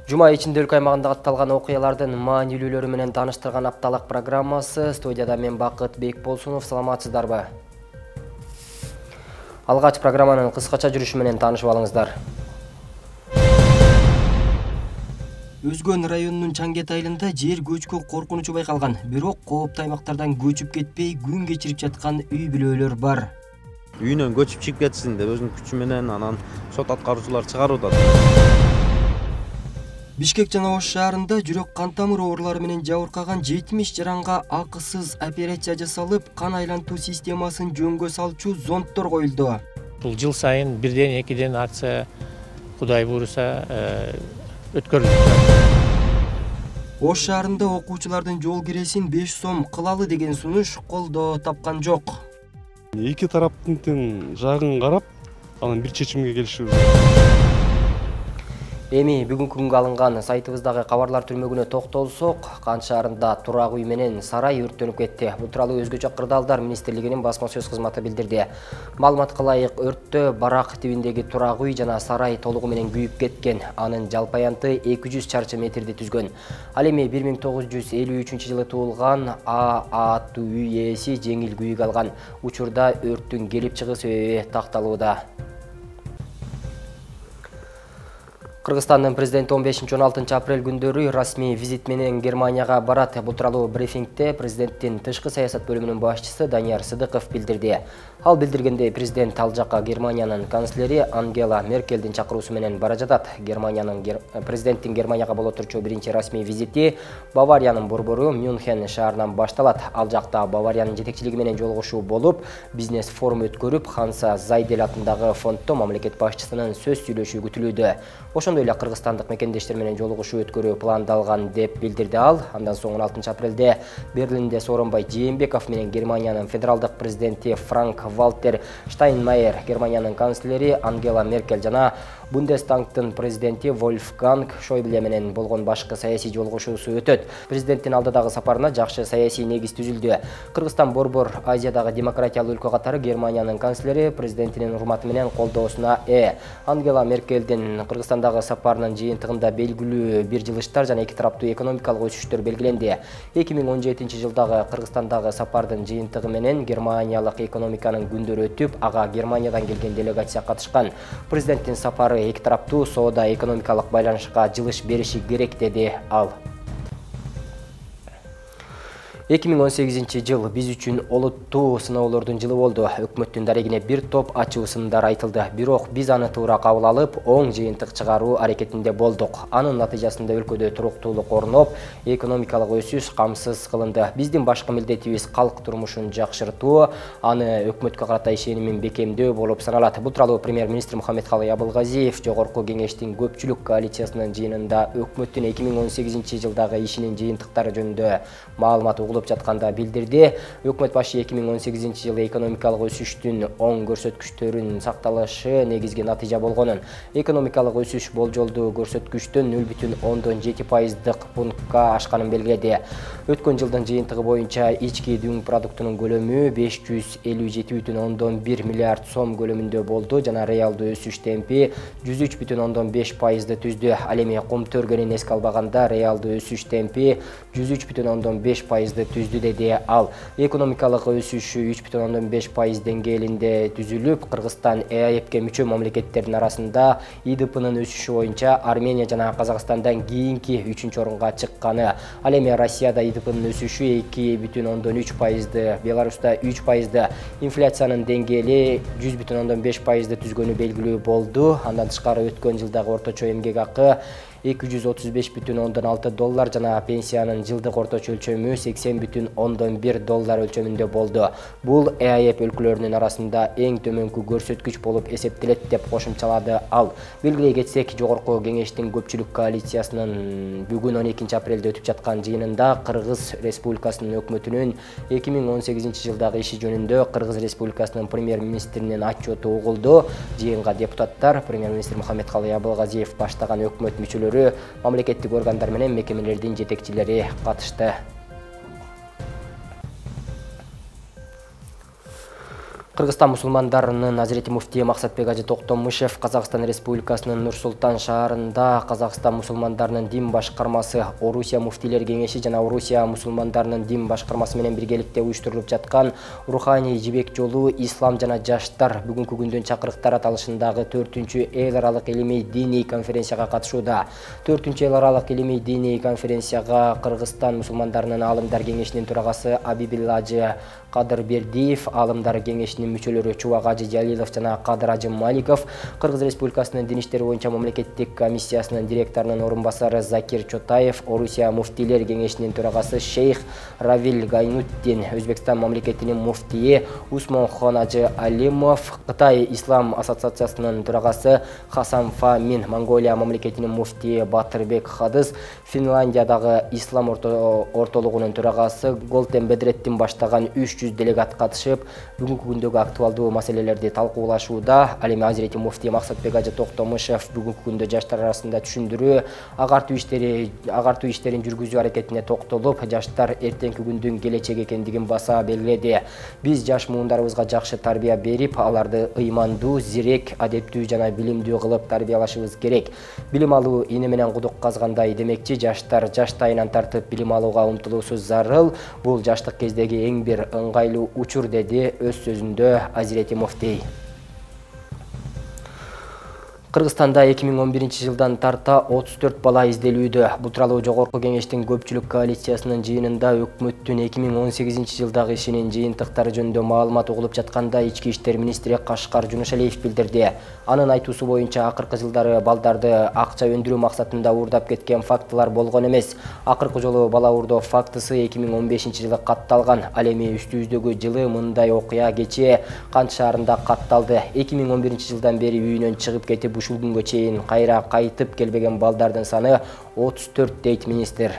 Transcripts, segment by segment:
Жума ичинде өлкө аймагында катталган окуялардын маанилүүлөрү менен тааныштырган апталык программасы. Студияда мен Бакыт Бекболсунов. Саламатсыздарбы? Алгач программанын кыскача жүрүшү менен таанышып алыңыздар. Өзгөн районунун Чаңгет айылында жер көчкү коркунучу байкалган. Бирок кооптуу аймактардан көчүп кетпей күн кечирип жаткан үй бүлөлөр бар. Үйүнөн көчүп чыгып кетсин деп өзүнүн күчү менен анан сот аткаруучулар чыгарууда. Бишкек жана Ош шаарында жүрөк кан тамыр оорулары менен жабыркаган 70 жаранга акысыз операция жасалып, кан айлантуу системасын жөнгө салчу зонддор коюлду. Бул жыл сайын бирден экиден акция Кудай буйруса өткөрүлөт. Ош шаарында окуучулардын жол киресин 5 сом кылалы деген сунуш колдоо тапкан жок. Эки тараптын тең жагын карап, анан бир чечимге келишүү. Эми бүгүнкү күнгө алынган сайтыбыздагы кабарлар түрмөгүнө токтолсок, Кан шаарында турак үй менен сарай өрттөнүп кетти. Бул тууралуу Өзгөчө Кырдаалдар министрлигинин басма сөз кызматы билдирди. Маалыматка ылайык, өрттө барак тибиндеги турак үй жана сарай толугу менен күйүп кеткен. Анын жалпы аянты 200 чарчы метрди түзгөн. Ал эми 1953-жылы туулган аттуу үй ээси жеңил күйүк алган. Учурда өрттүн келип чыгуу себеби такталууда. Кыргызстандын президенти 15-16 апрель күндөрү расмий визит менен Германияга барат. Бул тууралуу брифингде президенттин тышкы саясат бөлүмүнүн башчысы Данияр Сыдыков билдирди. Ал билдиргендей, президент ал жакка Германиянын канцлери Ангела Меркелдин чакыруусу менен бара жатат. Президенттин Германияга боло турчу биринчи расмий визити Бавариянын борбору Мюнхен шаарынан башталат. Ал жакта Бавариянын жетекчилиги менен жолугушуу болуп, бизнес форум өткөрүп, Ханса Зайдель атындагы фонддо мамлекет башчысынын сөз сүйлөшүү күтүлүүдө. Ошондой эле кыргызстандык мекендештер менен жолугушуу өткөрүү пландалган деп билдирди ал. Андан соң 16 апрелде Берлинде Сооронбай Жээнбеков менен Германиянын федералдык президенти Франк Валтер Штайнмайер, Германиянын канцлери Ангела Меркель жана Бундестагдын президенти Вольфганг Шойбле менен болгон башкы саясий жолугушуусу өтөт. Президенттин алдыдагы сапарына жакшы саясий негиз түзүлдү. Кыргызстан борбор Азиядагы демократиялуу өлкө катары Германиянын канцлери президентинин урматы менен колдоосуна Ангела Меркелдин Кыргызстандагы сапарынын жыйынтыгында белгилүү бир жылыштар жана эки тараптуу экономикалык өсүштөр белгиленди. 2017-жылдагы Кыргызстандагы сапардын жыйынтыгы менен германиялык экономиканын күндөрү өтүп, ага Германиядан келген делегация катышкан. Президенттин сапары эки тараптуу соода экономикалык байланышка жылыш бериши керек, деди ал. 2018-жыл биз үчүн олуттуу сыноолордун жылы болду. Өкмөттүн дарегине бир топ ачуу сындар айтылды. Бирок биз аны туура кабыл алып, оң жыйынтык чыгаруу аракетинде болдук. Анын натыйжасында өлкөдө туруктуулук орноп, экономикалык өсүш камсыз кылынды. Биздин башкы милдетибиз калк турмушун жакшыртуу, аны өкмөткө карата ишенимин бекемдөө болуп саналат. Бул тууралуу премьер-министр Мухаммедкалый Абылгазиев Жогорку кеңештин көпчүлүк коалициясынын жыйынында өкмөттүн 2018-жылдагы ишинин жыйынтыктары жөнүндө маалымат жатканда билдирди. Өкмөт башы 2018-жылы экономикалык өсүштүн оң көрсөткүчтөрүн сакталышы негизги натыйжа болгонун, экономикалык өсүш болжолдуу көрсөткүчтөн 0,7% пунктка ашканын белгиледи. Өткөн жылдын жыйынтыгы боюнча ички дүң продуктунун көлөмү 557,1 миллиард сом көлөмүндө болду жана реалдуу өсүш темпи 103,5%ды түздү. Ал эми кум төргөнүн эске албаганда реалдуу өсүш темпи 103,5%ды түздү, деди ал. Экономикалык өсүшү 3,5% деңгээлинде түзүлүп, Кыргызстан ЭАЭПке мүчө мамлекеттердин арасында ИДПнын өсүшү боюнча Армения жана Казакстандан кийинки 3-орунга чыкканы. Ал эми Россияда ИДПнын өсүшү 2,3%, Беларуста 3%, инфляциянын деңгээли 100,5%ды түзгөнү белгилүү болду. Андан тышкары өткөн жылдагы орточо эмгек акы $235,6 жана пенсиянын жылдык орточо өлчөмү $80,1 өлчөмүндө болду. Бул ЭАЭП өлкөлөрүнүн арасында эң төмөнкү көрсөткүч болуп эсептелет, деп кошумчалады ал. Белгилей кетсек, Жогорку кеңештин көпчүлүк коалициясынын бүгүн 12 апрелде өтүп жаткан жыйынында Кыргыз Республикасынын өкмөтүнүн 2018-жылдагы иши жөнүндө Кыргыз Республикасынын премьер-министринин отчету угулду. Жыйынга депутаттар, премьер-министр Мухаммедкалый Абылгазиев баштаган өкмөт мүчөлөрү, мамлекеттик органдар менен мекемелердин жетекчилери катышты. Кыргызстан мусулмандарынын Азирети муфтии Максатбек Ажы Токтомушев Казакстан Республикасынын Нур-Султан шаарында Казакстан мусулмандарынын дин башкармасы, Орусия муфтийлер кеңеши жана Орусия мусулмандарынын дин башкармасы менен биргеликте уюштурулуп жаткан руханий жибек жолу ислам жана жаштар бүгүнкү күндүн чакырыктар аталышындагы 4-чү эл аралык илимий диний конференцияга катышууда. 4-чү эл аралык илимий диний конференцияга Кыргызстан мусулмандарынын аалымдар кеңешинин төрагасы Абибил Ажы Кадырбердиев, аалымдар кеңешинин мүчөлөрү Чубак Ажы Жалилов жана Кадыр Ажы Маликов, Кыргыз Республикасынын дин иштери боюнча мамлекеттик комиссиясынын директорунун орун басары Закир Чотаев, Орусия муфтийлер кеңешинин төрагасы Шейх Равил Гайнуттин, Өзбекстан мамлекетинин муфтии Усмонхон Ажы Алимов, Кытай Ислам ассоциациясынын төрагасы Хасан Фамин, Монголия мамлекетинин муфтии Батырбек Хадыз, Финляндиядагы Ислам ортолугунун төрагасы Голтен Бедреттин баштаган 300 делегат катышып, бүгүнкү күндөгү актуалдуу маселелерди талкуулашууда. Ал эми Азирети муфтий Максатбек Ажы Токтомушев бүгүнкү күндө жаштар арасында түшүндүрүү, агартуу иштерин жүргүзүү аракетине токтолуп, жаштар эртеңки күндүн келечеги экендигин баса белгиледи. Биз жаш муундарыбызга жакшы тарбия берип, аларды ыймандуу, зирек, адептүү жана билимдүү кылып тарбиялашыбыз керек. Билим алуу ийне менен кудук казгандай демекчи, жаштар жаштайынан тартып билим алууга умтулуусу зарыл. Бул жаштык кездеги эң бир ыңгайлуу учур, деди өз сөзүндө Азирети муфтий. Кыргызстанда 2011 жылдан тарта 34 бала изделүүдө. Бул тууралуу Жогорку кеңештин көпчүлүк коалициясынын жыйынында өкмөттүн 2018 жылдагы ишинин жыйынтыктары жөнүндө маалымат угулуп жатканда Ички иштер министри Кашкар Жунушалиев билдирди. Анын айтуусу боюнча акыркы жылдары балдарды акча өндүрүү максатында уурдап кеткен фактылар болгон эмес. Акыркы жолу бала уурдоо фактысы 2015 жылы катталган. Ал эми үстүбүздөгү жылы мындай окуя кечээ Кант шаарында катталды. 2011 жылдан бери үйүнөн чыгып кетип ушул күнгө чейин кайра кайтып келбеген балдардын саны 34 дейт министр.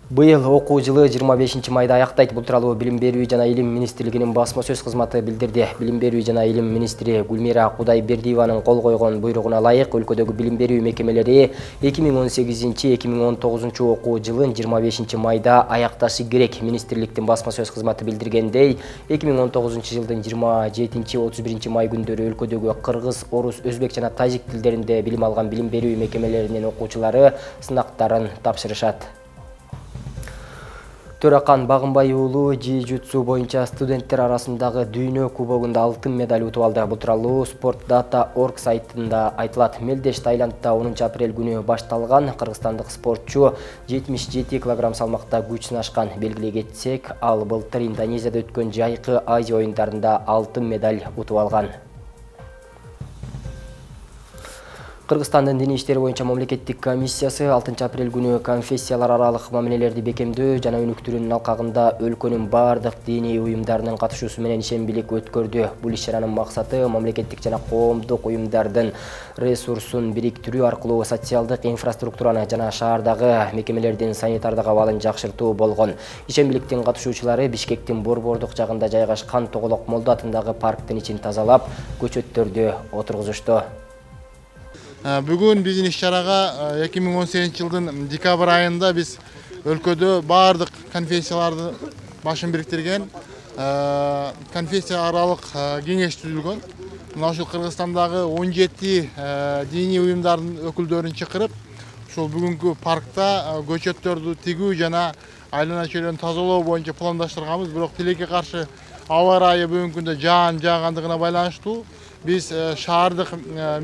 Быйыл окуу жылы 25 майда аяктайт. Бул тууралуу Билим берүү жана илим министрлигинин басма сөз кызматы билдирди. Билим берүү жана илим министри Гүлмира Кудайбердиеванын кол койгон буйругуна ылайык өлкөдөгү билим берүү мекемелери 2018-2019 окуу жылын 25 майда аякташы керек. Министрликтин басма сөз кызматы билдиргендей, 2019 жылдын 27-31 май күндөрү өлкөдөгү кыргыз, орус, өзбек жана тажик тилдеринде билим алган билим берүү мекемелеринин окуучулары сынактарын тапшырышат. Төракан Багынбай уулу джиу-джитсу боюнча студенттер арасындагы дүйнө кубогунда алтын медаль утуп алды. Бул тууралуу Sportdata.org сайтында айтылат. Мелдеш Таиландда 10 апрель күнү башталган кыргызстандык спортчу 77 кг салмакта күч сынашкан. Белгилей кетсек, ал былтыр Индонезияда өткөн жайкы Азия оюндарында алтын медаль утуп алган. Кыргызстандын дин иштери боюнча мамлекеттик комиссиясы 6 апрель күнү конфессиялар аралык мамилелерди бекемдөө жана өнүктүрүүнүн алкагында өлкөнүн бардык диний уюмдарынын катышуусу менен ишембилик өткөрдү. Бул иш-чаранын максаты мамлекеттик жана коомдук уюмдардын ресурсун бириктирүү аркылуу социалдык инфраструктураны жана шаардагы мекемелердин санитардык абалын жакшыртуу болгон. Ишембиликтин катышуучулары Бишкектин Борбордук жагында жайгашкан Тоголок Молдо атындагы парктын ичин тазалап, көчөттөрдү отургузушту. Бүгүн биздин иш-чарага 2018 жылдын декабрь айында биз өлкөдө бардык конфессияларды башын бириктирген конфессия аралык кеңеш түзүлгөн. Мына ушул Кыргызстандагы 17 диний уюмдардын өкүлдөрүн чакырып, ушул бүгүнкү паркта көчөттөрдү тигүү жана айлана чөйрөнү тазалоо боюнча пландаштырганбыз. Бирок тилекке каршы аба ырайы бүгүнкү күндө жаагандыгына байланыштуу биз шаардык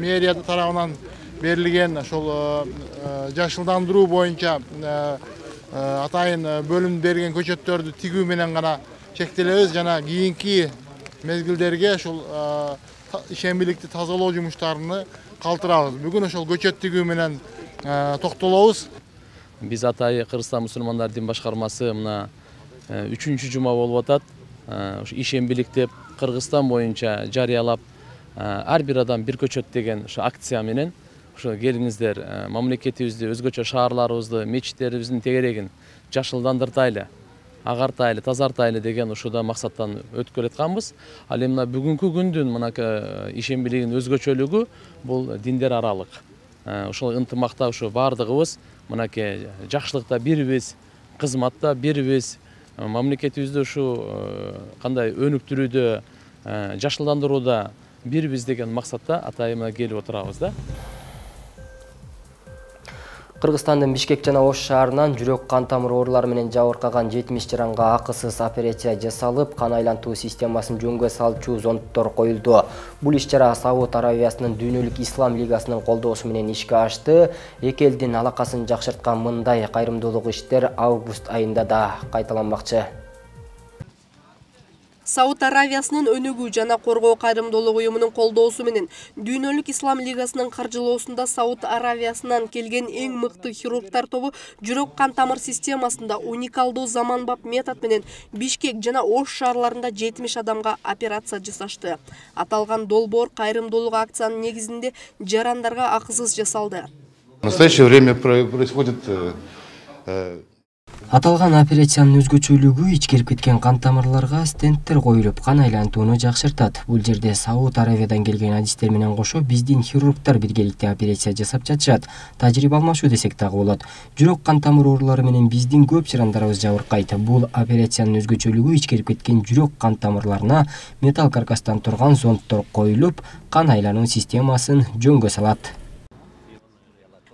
мэрия тарабынан берилген ошол жашылдандыруу боюнча атайын бөлүм берген көчөттөрдү тигүү менен гана чектелебиз жана кийинки мезгилдерге ошол ишембиликти тазалоо жумуштарыны калтырабыз. Бүгүн ошол көчөт тигүү менен токтолобуз. Биз атайы Кыргызстан мусулмандар дин башкармасы мына 3-чү жума болуп атат. Ишембилик деп Кыргызстан боюнча жарыялап, ар бир адам бир көчөт деген ошо акция менен ошо келиңиздер мамлекетибизди, өзгөчө шаарларыбызды, мечиттерибиздин тегерегин жашылдандыртайлы, агартайлы, тазартайлы деген ушуда максаттан өткөрүп атканбыз. Ал эми бүгүнкү күндүн мынакы ишембилигинин өзгөчөлүгү бул диндер аралык. Ошол ынтымакта ушу бардыгыбыз мынакей жакшылыкта бирбиз, кызматта бирбиз, мамлекетибизди ушу кандай өнүктүрүүдө, жашылдандырууда бирбиз деген максатта атайын келип отурабыз да. Кыргызстандын Бишкек жана Ош шаарынан жүрөк кан тамыр оорулары менен жабыркаган 70 жаранга акысыз операция жасалып, кан айлантуу системасын жөнгө салчу зондтор коюлду. Бул иш-чара Сауд Аравиясынын Дүйнөлүк Ислам Лигасынын колдоосу менен ишке ашты. Эки элдин алакасын жакшырткан мындай кайрымдуулук иштер август айында да кайталанмакчы. Сауд Аравиясынын өнүгүү жана коргоо кайрымдуулук уюмунун колдоосу менен Дүйнөлүк Ислам Лигасынын каржылоосунда Сауд Аравиясынан келген эң мыкты хирургтар тобу жүрөк кан тамыр системасында уникалдуу заманбап метод менен Бишкек жана Ош шаарларында 70 адамга операция жасашты. Аталган долбоор кайрымдуулук акциянын негизинде жарандарга акысыз жасалды. В настоящее время происходит Аталган операциянын өзгөчөлүгү ичкирип кеткен кан тамырларга стенттер коюлуп, кан айлантууну жакшыртат. Бул жерде Сауд Аравиядан келген адистер менен кошо биздин хирургтар биргеликте операция жасап жатышат. Тажрыйба алмашуу десек дагы болот. Жүрөк кан тамыр оорулары менен биздин көп жарандарыбыз жабыркайт. Бул операциянын өзгөчөлүгү ичкирип кеткен жүрөк кан тамырларына металл каркастан турган зондтор коюлуп, кан айлануу системасын жөнгө салат.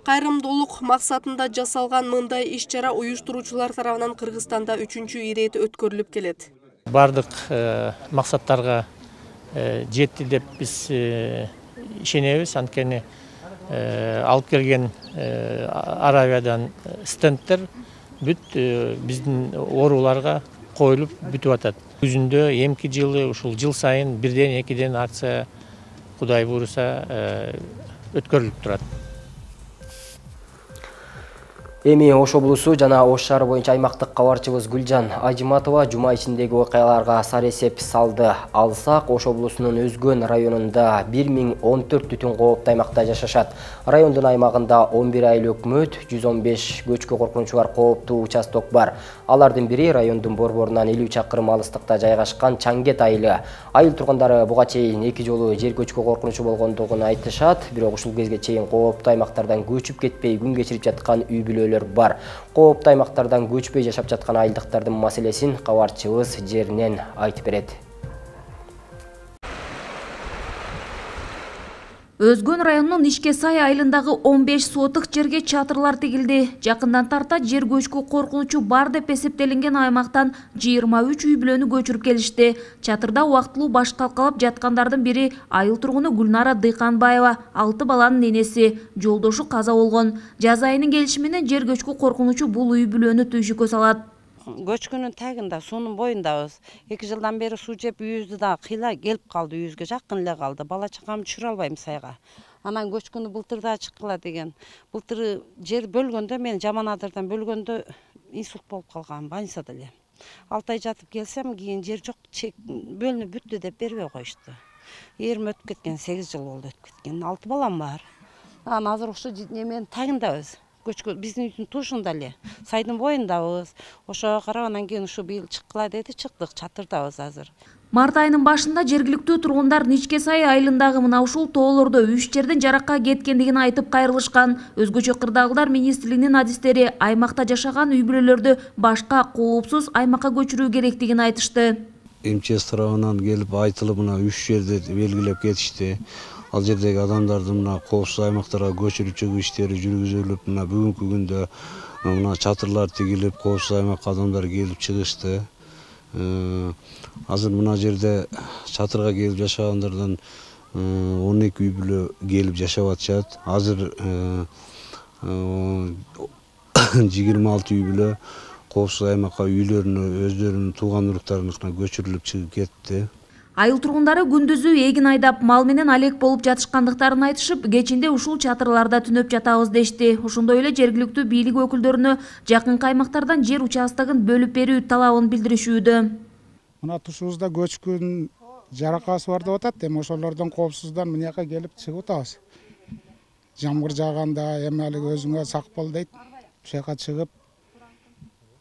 Кайрымдуулук максатында жасалган мындай иш-чара уюштуруучулар тарабынан Кыргызстанда 3-чү ирет өткөрүлүп келет. Бардык максаттарга жетти деп биз ишенебиз. Анткени алып келген Аравиядан стенттер бүт биздин ооруларга коюлуп бүтүп атат. Күзүндө эмки жылы ушул жыл сайын 1-2 акция Кудай буйруса өткөрүлүп турат. Эми Ош облусу жана Ош шаары боюнча аймактык кабарчыбыз Гүлжан Ажиматова жума ичиндеги окуяларга сар эсеп салды. Алсак, Ош облусунун Өзгөн районунда 1014 түтүн кооптуу аймакта жашашат. Райондун аймагында 11 айыл өкмөт, 115 көчкү коркунучу бар кооптуу участок бар. Алардын бири райондун борборунан 50 чакырым алыстыкта жайгашкан Чаңгет айылы. Айыл тургундары буга чейин 2 жолу жер көчкү коркунучу болгондугун айтышат, бирок ушул кезге чейин кооптуу аймактардан көчүп кетпей күн кечирип жаткан үй бүлөлөр бар. Кооптуу аймактардан көчпөй жашап жаткан айылдыктардын маселесин кабарчыбыз жеринен айтып берет. Өзгөн районунун Ишке Сай айылындагы 15 сотык жерге чатырлар тигилди. Жакындан тарта жер көчкү коркунучу бар деп эсептелинген аймактан 23 үй бүлөнү көчүрүп келишти. Чатырда убактылуу баш талкалап жаткандардын бири айыл тургуну Гүлнара Дыйканбаева, 6 баланын энеси, жолдошу каза болгон. Жаз айынын келиши менен жер көчкү коркунучу бул үй бүлөнү түйшүккө салат. Көчкүнүн тагында, суунун боюндабыз. 2 жылдан бери суу жеп үйүбүздү да кыйла келип калды, үйүбүзгө жакын эле калды. Бала чакамды түшүрө албайм сайга. Анан көчкүнү былтыр да чыккыла деген. Былтыр жер бөлгөндө, мен жаман адырдан бөлгөндө инсульт болуп калгам, больницада эле. 6 ай жатып келсем, кийин жер жок, бөлүнүп бүттү деп бербей коюшту. Эрим өтүп кеткен, 8 жыл болду өтүп кеткен. 6 балам бар. Анан азыр ошо неменин тагындабыз. Биздин үйдүн тушунда эле, сайдын боюндабыз. Ошого карап анан кийин ушу быйыл чыккыла деди, чыктык, чатырдабыз азыр. Март айынын башында жергиликтүү тургундар Ишке Сай айылындагы мына ушул тоолордо 3 жерден жаракка кеткендигин айтып кайрылышкан. Өзгөчө кырдаалдар министрлигинин адистери аймакта жашаган үй бүлөлөрдү башка коопсуз аймакка көчүрүү керектигин айтышты. МЧС тарабынан келип айтылып, мына 3 жерде белгилеп кетишти. Ал жердеги адамдарды мына коопсуз аймактарга көчүрүп чыгуу иштери жүргүзүлүп, мына бүгүнкү күндө мына чатырлар тигилип, коопсуз аймакка адамдар келип чыгышты. Азыр мына жерде чатырга келип жашагандардан 12 үй бүлө келип жашап атышат. Азыр 26 үй бүлө коопсуз аймакка үйлөрүнө, өздөрүнүн тууган уруктарына көчүрүлүп чыгып кетти. Айыл тургундары күндүзү эгин айдап, мал менен алек болуп жатышкандыктарын айтышып, кечинде ушул чатырларда түнөп жатабыз дешти. Ошондой эле жергиликтүү бийлик өкүлдөрүнө жакын аймактардан жер участогун бөлүп берүү талабын билдиришүүдө. Мына тушубузда көчкүн жаракасы бар деп атат, эми ошолордон коопсуздан мына жака келип чыгып атабыз. Жамгыр жааганда эми алиги өзүңө сак бол дейт. Ошол жака чыгып,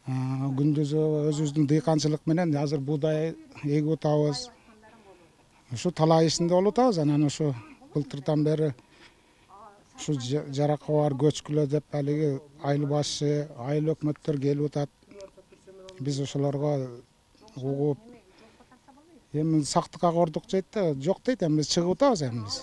күндүзү өзүбүздүн дыйканчылык менен азыр буудай эгип атабыз. Ушу талай ишинде болуп атабыз, анан ушу былтырдан бери ушу жаракка бар көчкүлө деп алиги айыл башчы, айыл өкмөттөр келип атат. Биз ошолорго угуп эми сактыкка кордук дейт да, жок дейт, эми биз чыгып атабыз эми биз.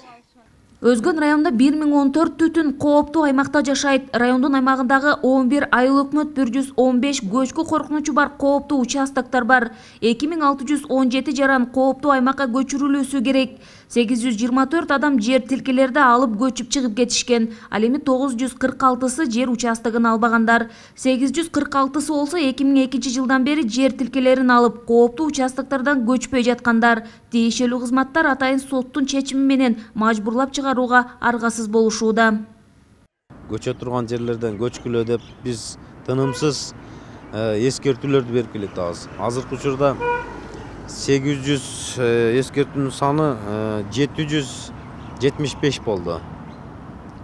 Өзгөн районунда 1014 түтүн кооптуу аймакта жашайт. Райондун аймагындагы 11 айыл өкмөт 115 көчкү коркунучу бар кооптуу участоктор бар. 2617 жаран кооптуу аймакка көчүрүлүүсү керек. 824 адам жер тилкелерди алып көчүп чыгып кетишкен. Ал эми 946сы жер участогун албагандар. 846сы болсо 2002 жылдан бери жер тилкелерин алып кооптуу участоктордон көчпөй жаткандар. Тиешелүү кызматтар атайын соттун чечими менен мажбурлап чыгарууга аргасыз болушууда. Көчө турган жерлерден көчкүлө деп биз тынымсыз эскертүүлөрдү берип келатабыз. Азыркы учурда 800 эскертүүнүн саны 775 болду.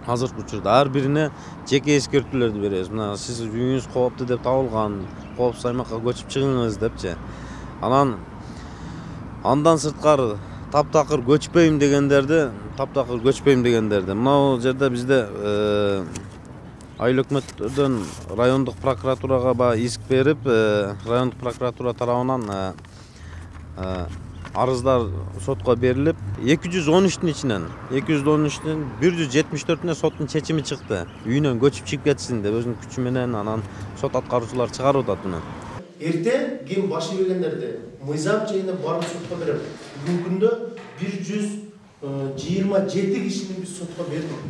Азыркы учурда ар бирине жеке эскертүүлөрдү беребиз. Мына сиз үйүңүз кооптуу деп табылган, коопсуз аймакка көчүп чыгыңыз депчи. Андан сырткары таптакыр көчпөйм дегендерди, мына жерде бизде айыл өкмөттөрдөн райондук прокуратурага иск берип, райондук прокуратура тарабынан арыздар сотко берилип, 213-тün ичинен 174-үнө соттун чечими чыкты. Үйүнөн көчүп чыгып кетсин деп өзүнүн күчү менен анан сот аткаруучулар чыгарып атат мына. Эрте ким башы бергендерди мыйзам чегинде барып сотко берип, бүгүнкү күндө 127 кишини биз сотко бердик.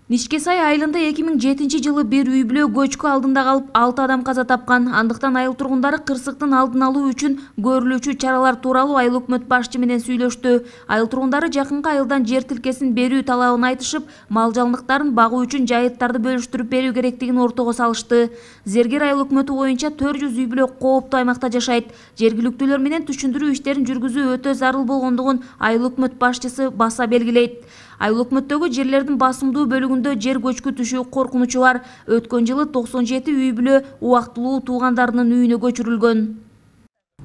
Нишкесай айылында 2007 жылы бир үй бүлө көчкү алдында калып 6 адам каза тапкан. Андыктан айыл тургундары кырсыктын алдын алуу үчүн көрүлүүчү чаралар тууралуу айыл өкмөт башчы менен сүйлөштү. Айыл тургундары жакынкы айылдан жер тилкесин берүү талабын айтышып, мал жалындыктарын багуу үчүн жайыттарды бөлүштүрүп берүү керектигин ортого салышты. Зергер айыл өкмөтү боюнча 400 үй бүлө кооптуу аймакта жашайт. Жергиликтүүлөр менен түшүндүрүү иштерин жүргүзүү өтө зарыл болгондугун айыл өкмөт башчысы баса белгилейт. Айыл өкмөттөгү жерлердин басымдуу бөлүгүндө жер көчкү түшүү коркунучу бар. Өткөн жылы 97 үй бүлө убактылуу туугандарынын үйүнө көчүрүлгөн.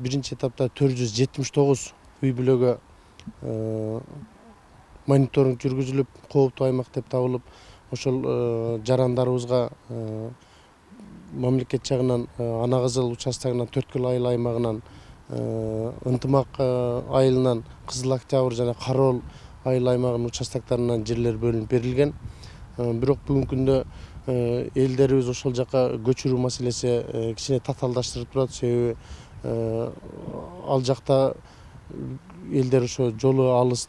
Биринчи этапта 479 үй бүлөгө мониторинг жүргүзүлүп, кооптуу аймак деп табылып, ошол жарандарыбызга мамлекет жагынан Ана Кызыл участогунан, Төрткүл айыл аймагынан, Ынтымак айылынан, Кызыл Октябрь жана Кароол айыл аймагынын участокторунан жерлер бөлүнүп берилген. Бирок бүгүнкү күндө элдерибиз ошол жака көчүрүү маселеси кичине татаалдаштырып турат. Себеби ал жакта элдер ошо жолу алыс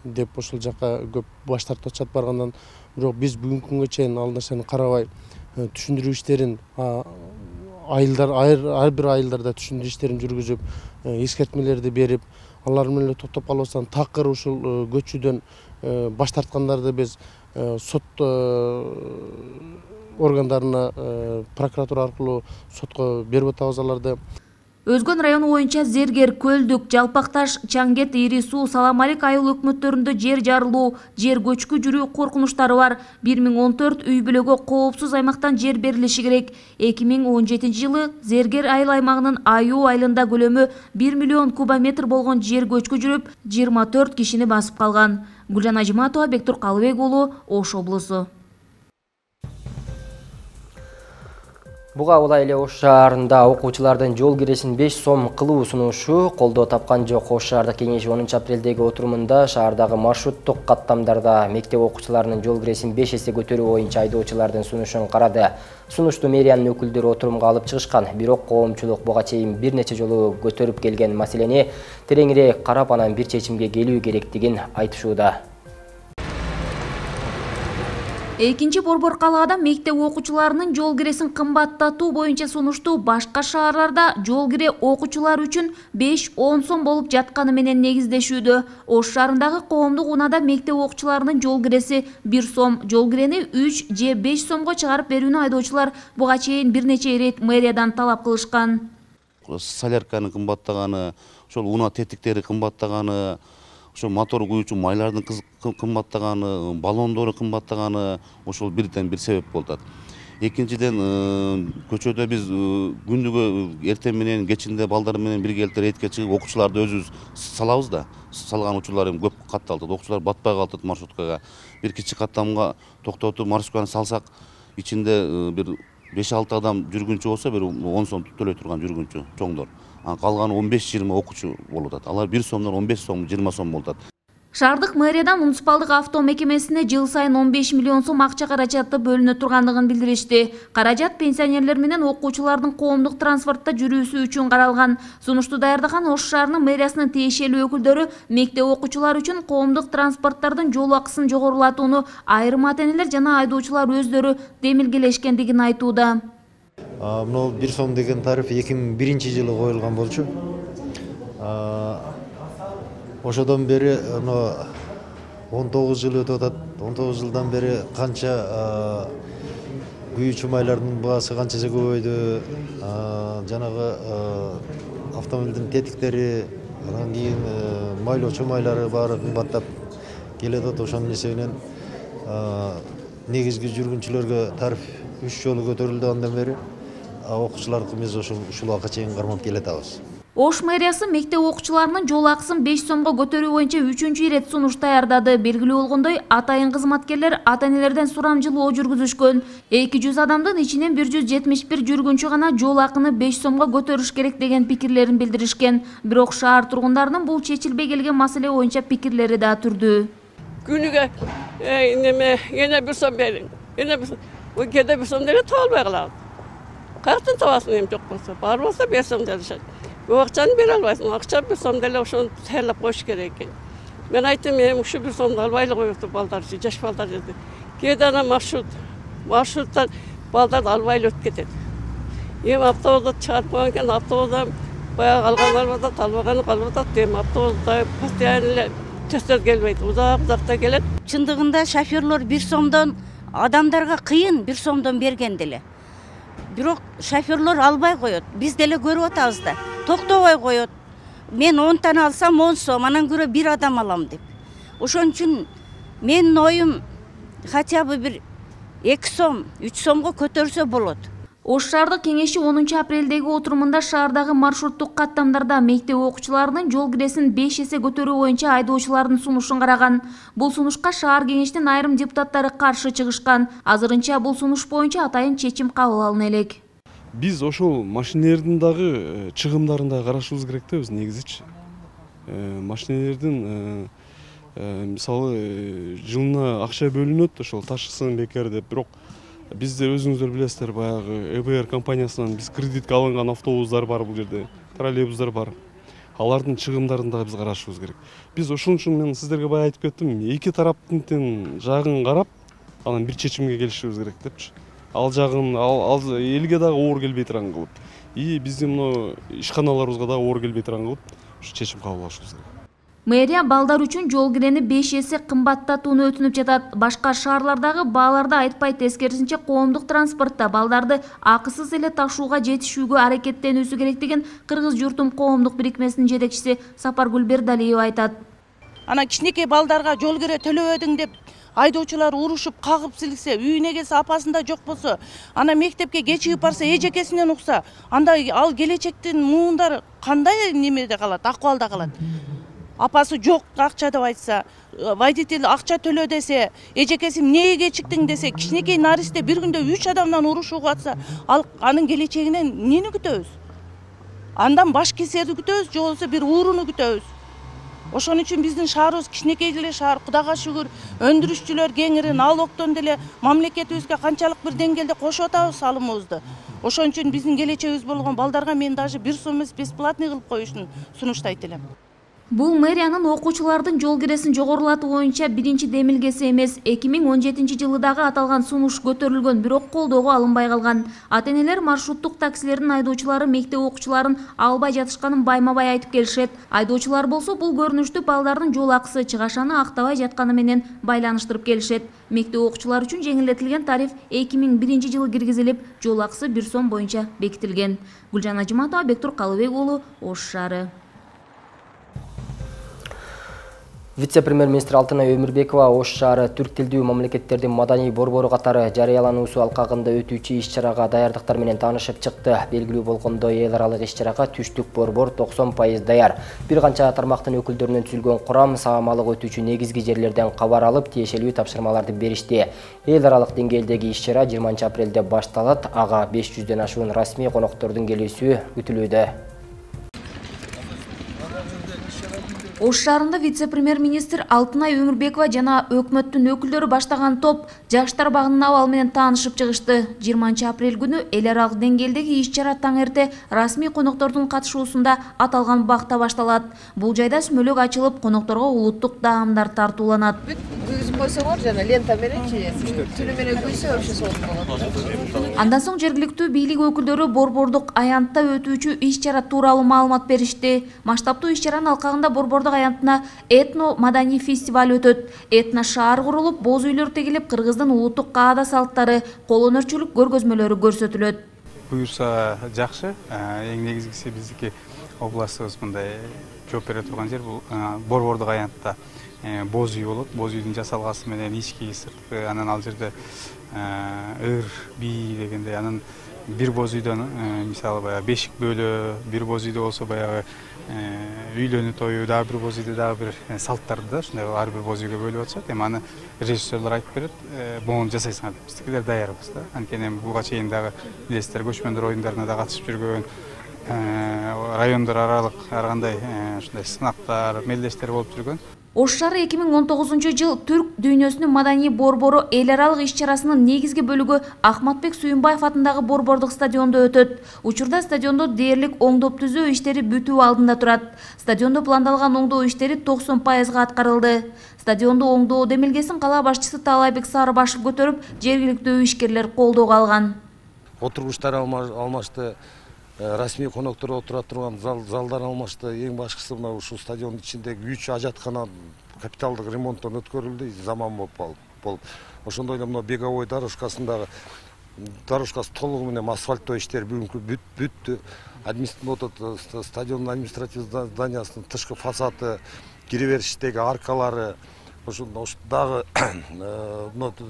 деп ошол жака көп баш тартып атышат баргандан. Бирок биз бүгүнкү күнгө чейин ал нерсени карабай түшүндүрүү иштерин ар бир айылдарда түшүндүрүү иштерин жүргүзүп, эскертмелерди берип, алар менен токтоп калбастан такыр ушул көчүүдөн баш тарткандарды биз сот органдарына, прокуратура аркылуу сотко берип атабыз аларды. Өзгөн району боюнча Зергер, Көлдүк, Жалпакташ, Чаңгет, Ири Суу, Саламалик айыл өкмөттөрүндө жер жарылуу, жер көчкү жүрүү коркунучтары бар. 1014 үй бүлөгө коопсуз аймактан жер берилиши керек. 2017 жылы Зергер айыл аймагынын Аю айылында көлөмү 1 миллион кубометр болгон жер көчкү жүрүп, 24 кишини басып калган. Гүлжан Ажыматова, Бектур Калыбек уулу, Ош облусу. Буга улай эле Ош шаарында окуучулардын жол киресин 5 сом кылуу сунушу колдоо тапкан жок. Ош шаардык кеңеши 10 апрелдеги отурумунда шаардагы маршруттук каттамдарда мектеп окуучуларынын жол киресин 5 эсе көтөрүү боюнча айдоочулардын сунушун карады. Сунушту мэриянын өкүлдөрү отурумга алып чыгышкан. Бирок коомчулук буга чейин бир нече жолу көтөрүп келген маселени тереңирээк карап, анан бир чечимге келүү керектигин айтышууда. Экинчи борбор калаада мектеп окуучуларынын жол киресин кымбаттатуу боюнча сунушту башка шаарларда жол кире окуучулар үчүн 5-10 сом болуп жатканы менен негиздешүүдө. Ош шаарындагы коомдук унаада мектеп окуучуларынын жол киреси 1 сом, жол кирени 3 же 5 сомго чыгарып берүүнү айдоочулар буга чейин бир нече ирет мэриядан талап кылышкан. Солярканын кымбаттаганы, ошол унаа тетиктери кымбаттаганы, ошо мотор куюучу майлардын кымбаттаганы, баллондору кымбаттаганы ошол бирден бир себеп болуп атат. Экинчиден, көчөдө биз күндүгө эртең менен, кечинде балдар менен бирге эле рейдке чыгып, окуучуларды өзүбүз салабыз да. Салган учурлар көп катталды. Окуучулар батпай калат маршруткага. Бир кичи каттамга токтотуп маршрутканы салсак, ичинде бир 5-6 адам жүргүнчү болсо бир 10 сом төлөй турган жүргүнчү чоңдор. Калганы 15-20 окуучу болуп атат. Алар 1 сомдон 15 сом, 20 сом болуп атат. Шаардык мэриядан муниципалдык авто мекемесине жыл сайын 15 миллион сом акча каражаты бөлүнө тургандыгын билдиришти. Каражат пенсионерлер менен окуучулардын коомдук транспортто жүрүүсү үчүн каралган. Сунушту даярдаган Ош шаарынын мэриясынын тиешелүү өкүлдөрү мектеп окуучулары үчүн коомдук транспорттардын жол акысын жогорулатууну айрым ата-энелер жана айдоочулар өздөрү демилгелешкендигин айтууда. Мына 1 сом деген тариф 2001-жылы коюлган болчу. Ошодон бери 19 жыл өтүп атат. 19 жылдан бери канча күйүүчү майлардын баасы канчасы көбөйдү. Жанагы автомобилдин тетиктери, анан кийин майлоочу майлары баары кымбаттап келет. Ошонун эсебинен негизги жүргүнчүлөргө тариф 3 жолу көтөрүлдү андан бери. Окуучулардыкы биз ушул акка чейин кармап келатабыз. Ош мэриясы мектеп окуучуларынын жол акысын 5 сомго көтөрүү боюнча 3-чү ирет сунуш даярдады. Белгилүү болгондой, атайын кызматкерлер ата-энелерден сурамжылоо жүргүзүшкөн. 200 адамдын ичинен 171 жүргүнчү гана жол акыны 5 сомго көтөрүш керек деген пикирлерин билдиришкен. Бирок шаар тургундарынын бул чечилбей келген маселе боюнча пикирлери да түрдүү. Күнүгө эне 1 сом бериң. Эне 1 сом. Кеде 1 сом деле табылбай калат. Каяктан табасың эми жок болсо, бар болсо 5 сом делишет. Акчаны бере албайсың, акча 1 сом деле ошону сайлап коюш керек экен. Мен айттым, эми ушу 1 сомду албай эле коюпту балдар, жаш балдар жерде. Кээде ана маршруттан балдар албай эле өтүп кетет. Эми автобусда чыгарып койгон экен, автобусда баягы алган алып атат, албаганы калып атат. Эми автобусда постоянно эле төстөр келбейт, узакта келет. Чындыгында шоферлор 1 сомдон адамдарга кыйын 1 сомдон берген деле. Бирок шоферлор албай коет. Биз деле көрүп атабыз да. Токтобой коет. Мен 10 тана алсам 10 сом, анан көрө 1 адам алам деп. Ошон үчүн менин оюм хотя бы бир 2 сом, 3 сомго көтөрсө болот. Ош шаардык кеңеши 10 апрелдеги отурумунда шаардагы маршруттук каттамдарда мектеп окуучуларынын жол киресин 5 эсе көтөрүү боюнча айдоочулардын сунушун караган. Бул сунушка шаар кеңешинин айрым депутаттары каршы чыгышкан. Азырынча бул сунуш боюнча атайын чечим кабыл алына элек. Биз ошол машинелердин дагы чыгымдарын да карашыбыз керек да, биз негизичи. Машинелердин мисалы жылына акча бөлүнөт, ошол ташысын бекер деп, бирок бизде өзүңүздөр билесиздер, баягы ЭБР компаниясынан биз кредитке алынган автобустар бар бул жерде, троллейбустар бар. Алардын чыгымдарын да биз карашыбыз керек. Биз ошон үчүн мен сиздерге бая айтып кеттим, эки тараптын жагын карап, анан бир чечимге келишибиз керек депчи. Ал жагын элге дагы оор келбей турган кылып, биздин мына ишканаларыбызга дагы оор келбей турган кылып, ушу чечим кабыл алышыбыз керек. Мэрия балдар үчүн жол кирени 5 эсе кымбаттатууну өтүнүп жатат. Башка шаарлардагы бааларды айтпайт, тескерисинче коомдук транспортто балдарды акысыз эле ташууга жетишүүгө аракеттенүүсү керектигин Кыргыз журтум коомдук бирикмесинин жетекчиси Сапаргүл Бердалиева айтат. Ана кичинекей балдарга жол кире төлөбөдүң деп айдоочулар урушуп, кагып силиксе, үйүнө келсе апасында жок болсо, ана мектепке кечигип барса, эжекесинен укса, анда ал келечектин муундары кандай немеде калат, акыбалда калат. Апасы жок акча деп айтса, водитель акча төлө десе, эжекеси эмнеге кечиктиң десе, кичинекей наристе бир күндө 3 адамдан урушууга атса, ал анын келечегинен эмнени күтөбүз? Андан баш кесерди күтөбүз, же болбосо бир ууруну күтөбүз. Ошон үчүн биздин шаарыбыз кичинекей эле шаар, Кудайга шүгүр, өндүрүшчүлөр кеңири, налогтон деле мамлекетибизге канчалык бир деңгээлде кошуп атабыз салымыбызды. Ошон үчүн биздин келечегибиз болгон балдарга мен даже 1 сом эмес бесплатный кылып коюшун сунуштайт элем. Бул мэриянын окуучулардын жол киресин жогорулатуу боюнча биринчи демилгеси эмес. 2017 жылы дагы аталган сунуш көтөрүлгөн, бирок колдоого алынбай калган. Ата-энелер маршруттук таксилердин айдоочулары мектеп окуучуларын албай жатышканын байма-бай айтып келишет. Айдоочулар болсо бул көрүнүштү балдардын жол акысы чыгашаны актабай жатканы менен байланыштырып келишет. Мектеп окуучулар үчүн жеңилдетилген тариф 2001 жылы киргизилип, жол акысы 1 сом боюнча бекитилген. Гүлжан Ажыматова, Бектур Калыбек уулу, Ош шаары. Вице-премьер-министр Алтынай Өмүрбекова Ош шаары түрк тилдүү мамлекеттердин маданий борбору катары жарыялануусу алкагында өтүүчү иш-чарага даярдыктар менен таанышып чыкты. Белгилүү болгондой, эл аралык иш-чарага түштүк борбор 90% даяр. Бир канча тармактын өкүлдөрүнөн түзүлгөн курам саамалык өтүүчү негизги жерлерден кабар алып, тиешелүү тапшырмаларды беришти. Эл аралык деңгээлдеги иш-чара 20 апрелде башталат. Ага 500дөн ашуун расмий коноктордун келүүсү күтүлүүдө. Ош шаарында вице-премьер-министр Алтынай Өмүрбекова жана өкмөттүн өкүлдөрү баштаган топ жаштар багынын абалы менен таанышып чыгышты. 20 апрель күнү эл аралык деңгээлдеги иш-чара таң эрте расмий коноктордун катышуусунда аталган бакта башталат. Бул жайда сүмөлөк ачылып, конокторго улуттук даамдар тартууланат. Күйгүзүп койсоңор жана лента мененчи түнү менен күйсө вообще сонун болот. Андан соң жергиликтүү бийлик өкүлдөрү борбордук аянтта өтүүчү иш-чара тууралуу маалымат беришти. Масштабтуу иш-чаранын алкагында борбордук аянтына этно-маданий фестиваль өтөт. Этно шаар курулуп, боз үйлөр тегилип, кыргыздын улуттук каада салттары, кол өнөрчүлүк көргөзмөлөрү көрсөтүлөт. Буюрса жакшы. Эң негизгиси биздики областыбыз мындай жооп бере турган жер бул борбордук аянтта боз үй болот. Боз үйдүн жасалгасы менен ички сырткы, анан ал жерде ыр, бий дегендей, анан бир боз үйдөн мисалы баягы бешик бөлө, бир боз үйдө болсо баягы үйлөнүү тою, дагы бир боз үйдө дагы бир салттарды да ушундай ар бир боз үйгө бөлүп атышат. Эми аны режиссерлор айтып берет, могуну жасайсыңар деп. Биздикилер даярбыз да. Анткени буга чейин дагы билесиздер, көчмөндөр оюндарына да катышып жүргөн, райондор аралык ар кандай ушундай сынактар, мелдештер болуп жүргөн. Ош шаары 2019 түрк дүйнөсүнүн маданий борбору эл аралык иш-чарасынын негизги бөлүгү Ахматбек Сүйүнбаев атындагы борбордук стадиондо өтөт. Учурда стадиондо дээрлик оңдоп түзөө иштери бүтүү алдында турат. Стадиондо пландалган оңдоо иштери 90% аткарылды. Стадионду оңдоо демилгесин кала башчысы Талайбек Сарыбашев көтөрүп, жергиликтүү ишкерлер колдоого алган. Отургучтар алмашты, расмий коноктор отура турган залдар алмашты. Эң башкысы мына ушул стадиондун ичиндеги 3 ажаткана капиталдык ремонттон өткөрүлдү, заман болуп. Ошондой эле мына беговой дорожкасындагы дорожкасы толугу менен асфальттоо иштери бүгүнкү бүттү. Стадиондун административдик зданиясынын тышкы фасады, кире бериштеги аркалары, ошол дагы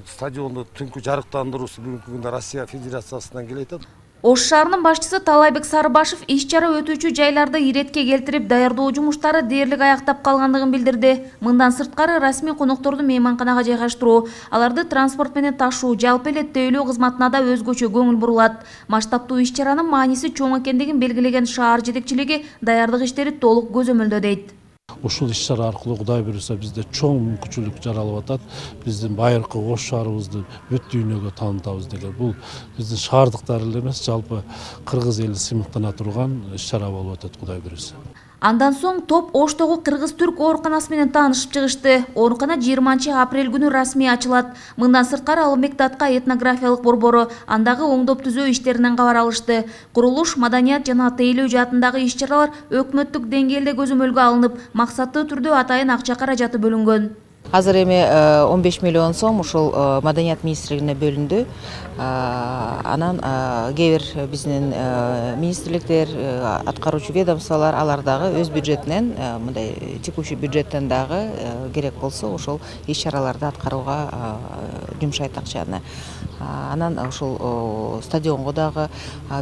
стадионду түнкү жарыктандыруусу бүгүнкү күндө Россия Федерациясынан келет. Ош шаарынын башчысы Талайбек Сарыбашев иш-чара өтүүчү жайларды иретке келтирип, даярдоо жумуштары дээрлик аяктап калгандыгын билдирди. Мындан сырткары расмий конокторду мейманканага жайгаштыруу, аларды транспорт менен ташуу, жалпы эле тейлөө кызматына да өзгөчө көңүл бурулат. Масштабтуу иш-чаранын мааниси чоң экендигин белгилеген шаар жетекчилиги даярдык иштери толук көзөмөлдө дейт. Ушул иш-чара аркылуу Кудай буйруса бизде чоң мүмкүнчүлүк жаралып атат. Биздин байыркы Ош шаарыбызды бүт дүйнөгө таанытабыз деген. Бул биздин шаардыктар эле эмес, жалпы кыргыз эли сыймыктана турган иш-чара болуп атат Кудай буйруса. Андан соң топ Оштогу кыргыз-түрк ооруканасы менен таанышып чыгышты. Оорукана 20 апрель күнү расмий ачылат. Мындан сырткары Алымбек Датка этнографиялык борбору андагы оңдоп түзөө иштеринен кабар алышты. Курулуш, маданият жана тейлөө жаатындагы иш-чаралар өкмөттүк деңгээлде көзөмөлгө алынып, максаттуу түрдө атайын акча каражаты бөлүнгөн. Азыр эми 15 миллион сом ушул маданият министрлигине бөлүндү. Анан кээ бир биздин министрликтер, аткаруучу ведомстволор алар дагы өз бюджетинен, мындай текущий бюджеттен дагы керек болсо ошол иш-чараларды аткарууга жумшайт акчаны. Анан ушул стадионго дагы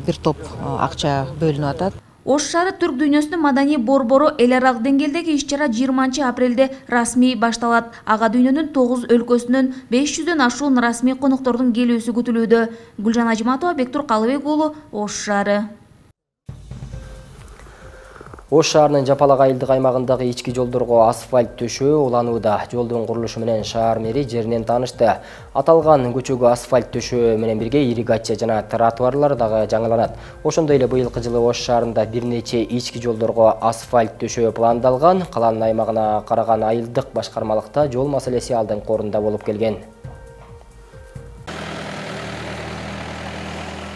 бир топ акча бөлүнүп атат. Ош шаары түрк дүйнөсүнүн маданий борбору эл аралык деңгээлдеги иш-чара 20 апрелде расмий башталат. Ага дүйнөнүн 9 өлкөсүнөн 500дөн ашуун расмий коноктордун келүүсү күтүлүүдө. Гүлжан Ажматова, Бектур Калыбек уулу, Ош шаары. Ош шаарынын Жапалак айылдык аймагындагы ички жолдорго асфальт төшөө уланууда. Жолдун курулушу менен шаар мэри жеринен таанышты. Аталган көчөгө асфальт төшөө менен бирге ирригация жана тротуарлар дагы жаңыланат. Ошондой эле быйылкы жылы Ош шаарында бир нече ички жолдорго асфальт төшөө пландалган. Калаанын аймагына караган айылдык башкармалыкта жол маселеси алдыңкы орунда болуп келген.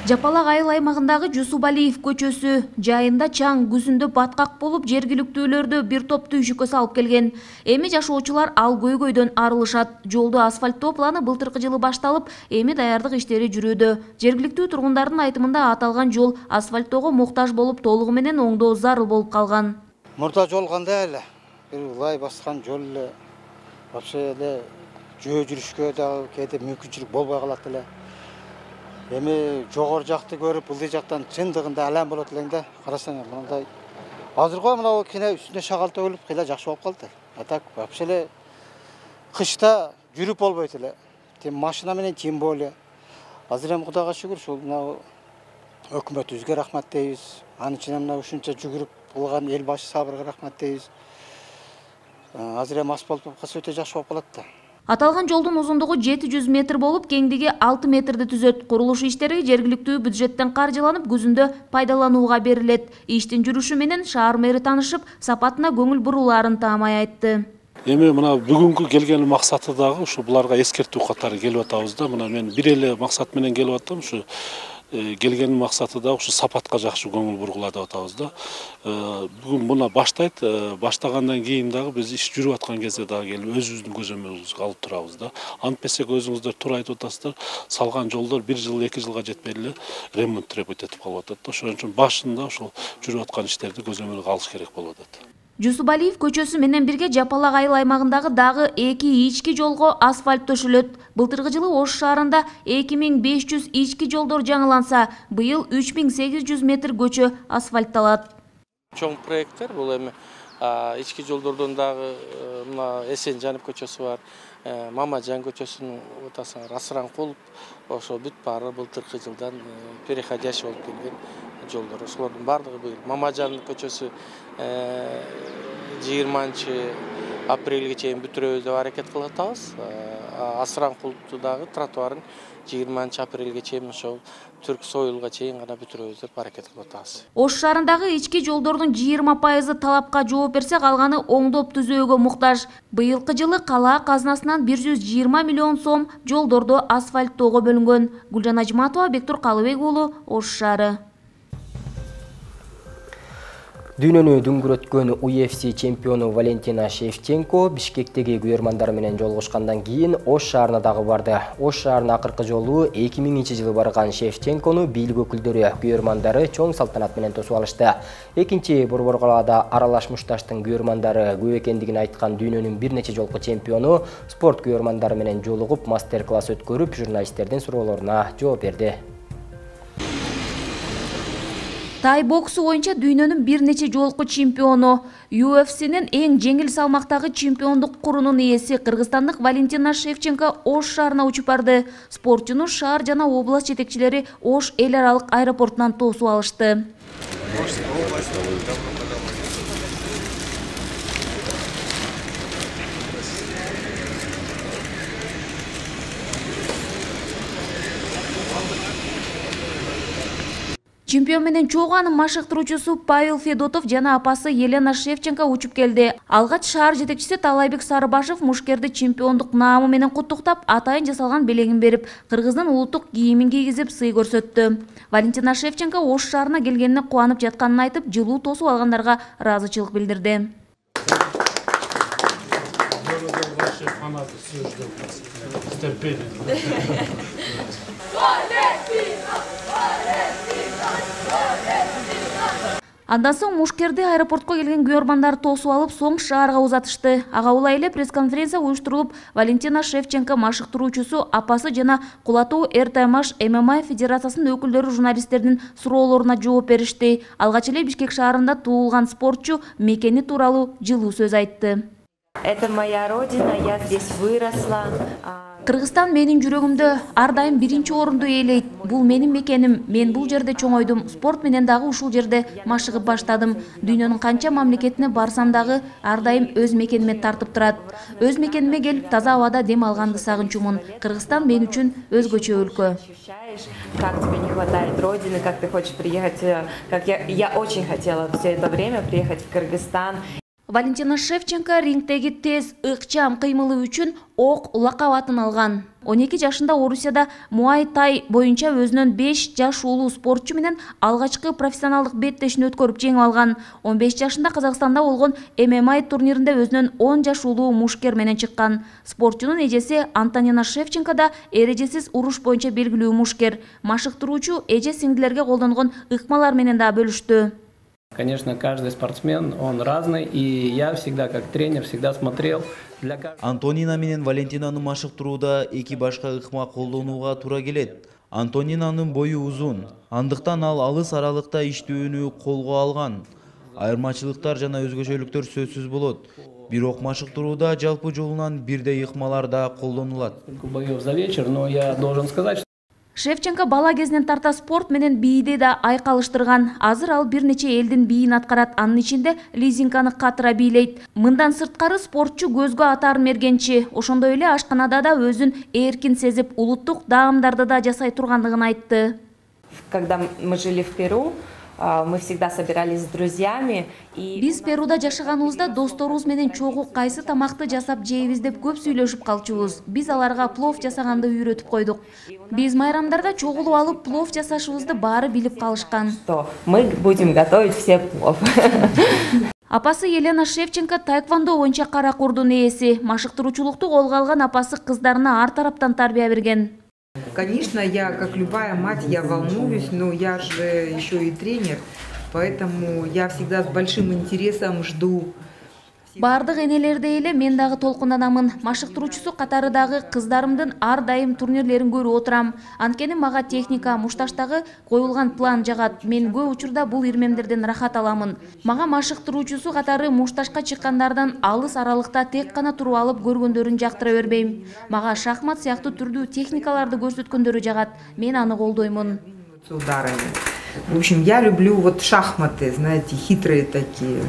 Жапалак айыл аймагындагы Жусубалиев көчөсү жайында чаң күзүндө баткак болуп, жергиликтүүлөрдү бир топ түйшүккө салып келген. Эми жашоочулар ал көйгөйдөн арылышат. Жолду асфальттоо планы былтыркы жылы башталып, эми даярдык иштери жүрүүдө. Жергиликтүү тургундардын айтымында аталган жол асфальттоого муктаж болуп, толугу менен оңдоо зарыл болуп калган. Мурда жол кандай эле? Бир лай баскан жол эле. вообще эле жөө жүрүшкө дагы кээде мүмкүнчүлүк болбой калат эле. Эми жогору жакты көрүп, ылдый жактан чындыгында алам болот элең да. Карасаң, мындай азыркы мына кийин үстүнө шагал төгүлүп, кыйла жакшы болуп калды. А так вообще эле кышта жүрүп болбойт эле. Тем машина менен тем более. Азыр эми Кудайга шүгүр, ушул мына өкмөтүбүзгө рахмат дейбиз. Анын ичинен мына ушунча жүгүрүп кылган эл башы сабырга рахмат дейбиз. Азыр эми асфальт болуп калса өтө жакшы болуп калат да. Аталган жолдун узундугу 700 метр болуп, кеңдиги 6 метрди түзөт. Курулуш иштери жергиликтүү бюджеттен каржыланып, күзүндө пайдаланууга берилет. Иштин жүрүшү менен шаар мэри таанышып, сапатына көңүл бурулаарын таамай айтты. Эми мына бүгүнкү келген максаты дагы ушу буларга эскертүү катары келип атабыз да. Мына мен бир эле максат менен келип аттым. Ушу келген максаты да ушу сапатка жакшы көңүл бургула деп атабыз да. Бүгүн муна баштайт. Баштагандан кийин дагы биз иш жүрүп аткан кезде дагы келип өзүбүздүн көзөмөлүбүзгө алып турабыз да. Антпесек өзүңүздөр туура айтып атасыздар. Салган жолдор 1 жыл, 2 жылга жетпей эле ремонт требует этип калып атат да. Ошон үчүн башында ушул жүрүп аткан иштерди көзөмөлгө алыш керек болуп атат. Жусупалиев көчөсү менен бирге Жапалак айыл аймагындагы дагы 2 ички жолго асфальт төшөлөт. Былтыркы жылы Ош шаарында 2500 ички жолдор жаңыланса, быйыл 3800 метр көчө асфальтталат. Чоң проекттер бул эми ички жолдордон дагы мына Эсенжанов көчөсү бар, Мамажан көчөсүнүн отасына Расранкулов, ошо бүт баары былтыркы жылдан переходящий болуп келген жолдор. Ошолордун бардыгы быйыл. Мамажан көчөсү 20-апрелге чейин бүтүрөбүз деп аракет кылып атабыз. Асранкуловду дагы тротуарын 20-апрелге чейин ошол Түрк Союлга чейин гана бүтүрөбүз деп аракет кылып атабыз. Ош шаарындагы ички жолдордун 20% талапка жооп берсе, калганы оңдоп түзөөгө муктаж. Быйылкы жылы кала казынасынан 120 миллион сом жолдорду асфальттоого бөлүнгөн. Гүлжан Ажматова, Бектур Калыбек уулу, Ош шаары. Дүйнөнү дүңгүрөткөн UFC чемпиону Валентина Шевченко Бишкектеги күйөрмандары менен жолугушкандан кийин Ош шаарына дагы барды. Ош шаарына акыркы жолу 2000-жылы барган Шевченкону бийлик өкүлдөрү, күйөрмандары чоң салтанат менен тосуп алышты. Экинчи борбор калаада аралаш мушташтын күйөрмандары көп экендигин айткан дүйнөнүн бир нече жолку чемпиону спорт күйөрмандары менен жолугуп, мастер-класс өткөрүп, журналисттердин суроолоруна жооп берди. Тай боксу боюнча дүйнөнүн бир нече жолку чемпиону, UFC'нин эң жеңил салмактагы чемпиондук курунун ээси кыргызстандык Валентина Шевченко Ош шаарына учуп барды. Спортчуну шаар жана область жетекчилери Ош эл аралык аэропортунан тосуп алышты. Чемпион менен чогуу анын машыктыруучусу Павел Федотов жана апасы Елена Шевченко учуп келди. Алгач шаар жетекчиси Талайбек Сарыбашев мушкерди чемпиондук наамы менен куттуктап, атайын жасалган белегин берип, кыргыздын улуттук кийимин кийгизип сый көрсөттү. Валентина Шевченко Ош шаарына келгенине кубанып жатканын айтып, жылуу тосуп алгандарга ыраазычылык билдирди. Андан соң мушкерди аэропортко келген күйөрмандар тосуп алып, соң шаарга узатышты. Ага улай эле пресс-конференция уюштурулуп, Валентина Шевченко машыктыруучусу, апасы жана Кулатуу РТМаш ММА федерациясынын өкүлдөрү журналисттердин суроолоруна жооп беришти. Алгач эле Бишкек шаарында туулган спортчу мекени тууралуу жылуу сөз айтты. Это моя родина, я здесь выросла. Кыргызстан менин жүрөгүмдө ар дайым биринчи орунду ээлейт. Бул менин мекеним. Мен бул жерде чоңойдум. Спорт менен дагы ушул жерде машыгып баштадым. Дүйнөнүн канча мамлекетине барсам дагы ар дайым өз мекениме тартып турат. Өз мекениме келип таза абада дем алганды сагынчумун. Кыргызстан мен үчүн өзгөчө өлкө. Как тебе не хватает родины, как ты хочешь приехать, как я очень хотела все это время приехать в Кыргызстан. Валентина Шевченко рингтеги тез, ыкчам кыймылы үчүн ок лакап атын алган. 12 жашында Орусияда Муай Тай боюнча өзүнөн 5 жаш улуу спортчу менен алгачкы профессионалдык беттешин өткөрүп жеңип алган. 15 жашында Казакстанда болгон ММА турниринде өзүнөн 10 жаш улуу мушкер менен чыккан. Спортчунун эжеси Антонина Шевченко да эрежесиз уруш боюнча белгилүү мушкер. Машыктыруучу эже сиңдилерге колдонгон ыкмалар менен да бөлүштү. Конечно, каждый спортсмен, он разный, и я всегда, как тренер, всегда смотрел для каждого. Антонина менен Валентинаны машыктырууда эки башка ыкма колдонууга туура келет. Антонинанын бою узун, андыктан ал алыс аралыкта иштөөнү колго алган. Айырмачылыктар жана өзгөчөлүктөр сөзсүз болот. Бирок машыктырууда жалпы жолунан бирдей ыкмалар да колдонулат. Боев за вечер, но я должен сказать, что Шевченко бала кезинен тарта спорт менен бийди да айкалыштырган. Азыр ал бир нече элдин бийин аткарат, анын ичинде лизинканы катыра бийлейт. Мындан сырткары спортчу көзгө атаарын мергенчи. Ошондой эле ашканада да өзүн эркин сезип, улуттук даамдарды да жасай тургандыгын айтты. Когда мы жили в Перу, мы всегда собирались с друзьями. Биз Перуда жашаганыбызда досторубуз менен чогуу кайсы тамакты жасап жейбиз деп көп сүйлөшүп калчубуз. Биз аларга плов жасаганды үйрөтүп койдук. Биз майрамдарда чогулуп алып плов жасашыбызды баары билип калышкан. Мы будем готовить все плов. Апасы Елена Шевченко таэквондо боюнча кара курдун ээси. Машыктыруучулукту колго алган апасы кыздарына ар тараптан тарбия берген. Конечно, я, как любая мать, я волнуюсь, но я же еще и тренер, поэтому я всегда с большим интересом жду. Бардык энелердей эле мен дагы толкунданамын. Машыктыруучусу катары дагы кыздарымдын ар дайым турнирлерин көрүп отурам. Анткени мага техника, мушташтагы коюлган план жагат. Мен көп учурда бул ирмемдерден рахат аламын. Мага машыктыруучусу катары мушташка чыккандардан алыс аралыкта тек гана туруп алып көргөндөрүн жактыра бербейм. Мага шахмат сыяктуу түрдүү техникаларды көрсөткөндөрү жагат. Мен аны колдоймун. В общем, я люблю вот шахматы, знаете, хитрые такие.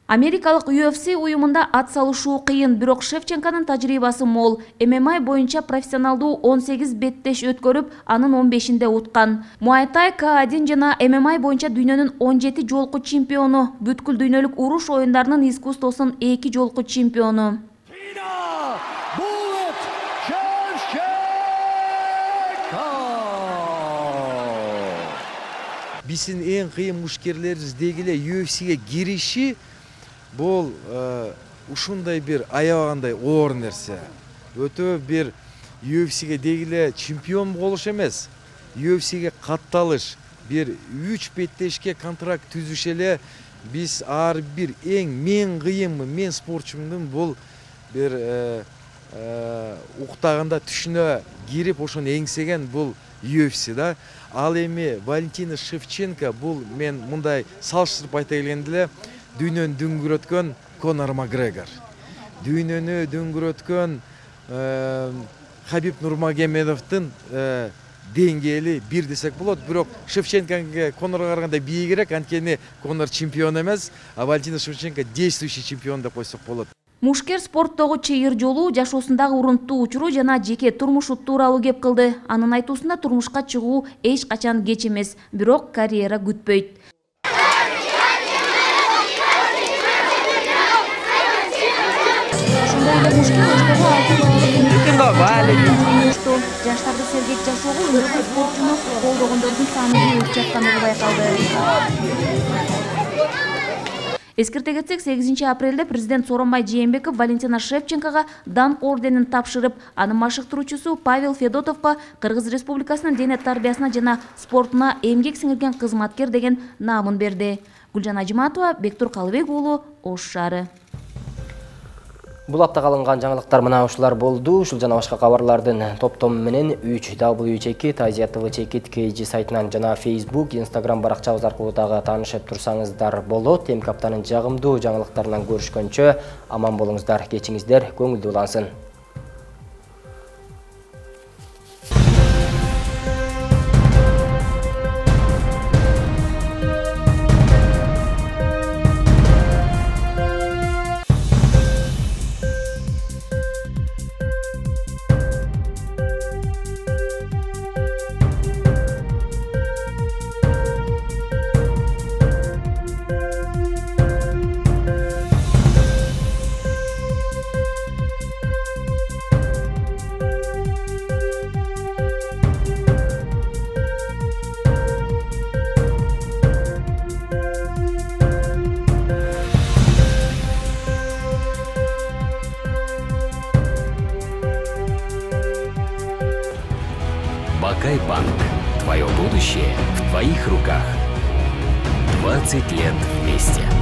Америкалык UFC уюмунда ат салышуу кыйын, бирок Шевченконун тажрыйбасы мол. ММА боюнча профессионалдуу 18 беттеш өткөрүп, анын 15-инде уткан. Муай-тай, К1 жана ММА боюнча дүйнөнүн 17 жолку чемпиону, бүткүл дүйнөлүк уруш оюндарынын искусствосунун 2 жолку чемпиону. Биздин эң кыйын мушкерлерибиз дегиле UFC'ге кириши бул ушундай бир аябагандай оор нерсе. Өтө бир UFC'ге дегиле чемпион болуш эмес, UFC'ге катталыш, бир 3 беттешке контракт түзүш эле биз ар бир мен кыйынмы, мен спортчумдун бул бир уктаганда түшүнө кирип ошону эңсеген бул UFC да. Ал эми Валентина Шевченко бул мен мындай салыштырып айта келгенде эле дүйнөнү дүңгүрөткөн Конор Макгрегор. Дүйнөнү дүңгүрөткөн Хабиб Нурмагомедовдун деңгээли бир десек болот. Бирок Шевченкоге Конорго караганда бийигирээк, анткени Конор чемпион эмес, а Валентина Шевченко действующий чемпион деп койсок болот. Мушкер спорттогу чыйыр жолу, жашоосундагы урунттуу учуру жана жеке турмушу тууралуу кеп кылды. Анын айтуусунда турмушка чыгуу эч качан кеч эмес, бирок карьера күтпөйт. Жаштарды сергек жашоого үндөгөн спортчуну колдогондордун саны көбөйүп жаткандыгы байкалды. Эскерте кетсек, 8 апрелде президент Сооронбай Жээнбеков Валентина Шевченкога даңк орденин тапшырып, анын машыктыруучусу Павел Федотовго Кыргыз Республикасынын дене тарбиясына жана спортуна эмгек сиңирген кызматкер деген наамын берди. Гүлжан Ажыматова, Бектур Калыбек уулу, Ош шаары. Бул аптага алынган жаңылыктар мына ушулар болду. Ушул жана башка кабарлардын топтому менен 3W Азия ТВ чекит KG сайтынан жана Facebook, Instagram баракчабыз аркылуу дагы таанышып турсаңыздар болот. Эмки аптанын жагымдуу жаңылыктарынан көрүшкөнчө аман болуңуздар, кечиңиздер көңүлдүү улансын. Бакай-банк. Твое будущее в твоих руках. 20 лет известия.